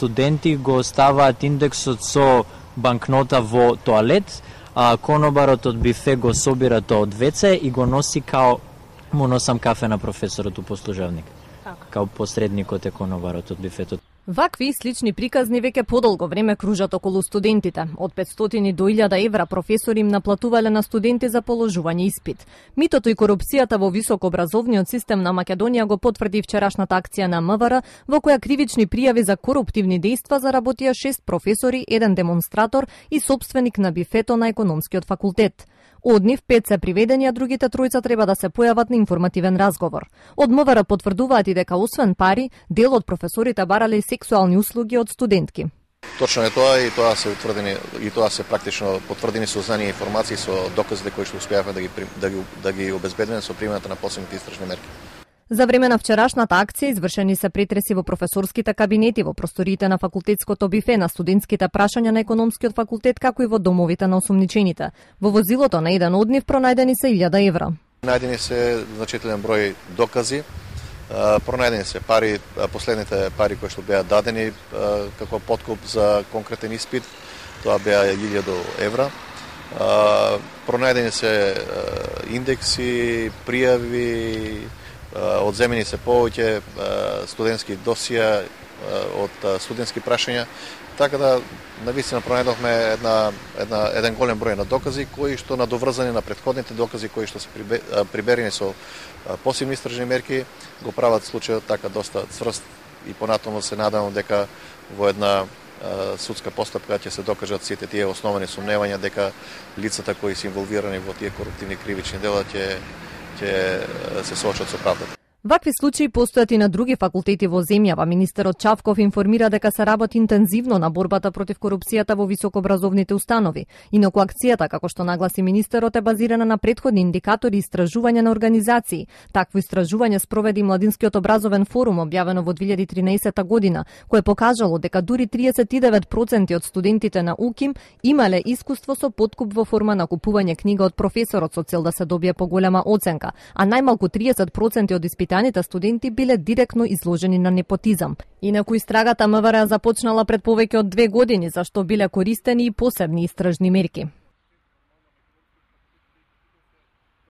студенти го ставаат индексот со банкнота во тоалет, а конобарот од бифе го собира тоа од веце и го носи као му носам кафе на професорот у послужавник. Као посредникот е конобарот од бифетот. Вакви и слични приказни веќе подолго време кружат околу студентите. Од 500 до 1000 евра професори им наплатувале на студенти за положување испит. Митото и корупцијата во високообразовниот систем на Македонија го потврди вчерашната акција на МВР, во која кривични пријави за коруптивни дејства заработија 6 професори, 1 демонстратор и сопственик на бифето на економскиот факултет. Од нив 5 се приведени, а другите тројца треба да се појават на информативен разговор. Од МВР потврдуваат и дека освен пари, дел од професорите барале и сексуални услуги од студентки. Точно е тоа и тоа се практично потврдени со знание и информации со доказите кои што успеавме да ги обезбедиме со примената на посебните истражни мерки. За време на вчерашната акција извршени се претреси во професорските кабинети, во просториите на факултетското бифе, на студентските прашања на економскиот факултет, како и во домовите на осумничените. Во возилото на еден од нив пронајдени се 1000 евра. Најдени се значителен број докази, пронајдени се пари, последните пари кои што беа дадени како подкуп за конкретен испит, тоа беа 1000 евра. Пронајдени се индекси, пријави, одземени се повеќе студентски досија од студентски прашања, така да навистина пронајдовме еден голем број на докази кои што надоврзани на претходните докази кои што се приберени со посебни истражни мерки го прават случајот така доста цврст и понатаму се надевам дека во една судска постапка ќе се докажат сите тие основани сомневања дека лицата кои се инволвирани во тие коруптивни кривични дела ќе се соочат со правдата. Вакви случаи постојат и на други факултети во земјава. Министерот Чавков информира дека се работи интензивно на борбата против корупцијата во високообразовните установи. Инаку акцијата, како што нагласи министерот, е базирана на претходни индикатори и истражување на организации. Такво истражување спроведи Младинскиот образовен форум, објавено во 2013 година, кое покажало дека дури 39% од студентите на УКИМ имале искуство со подкуп во форма на купување книга од професорот со цел да се добие поголема оценка, а најмалку 30% од испитаните студенти биле директно изложени на непотизам. Инаку истрагата МВР започнала пред повеќе од 2 години, зашто биле користени и посебни истражни мерки.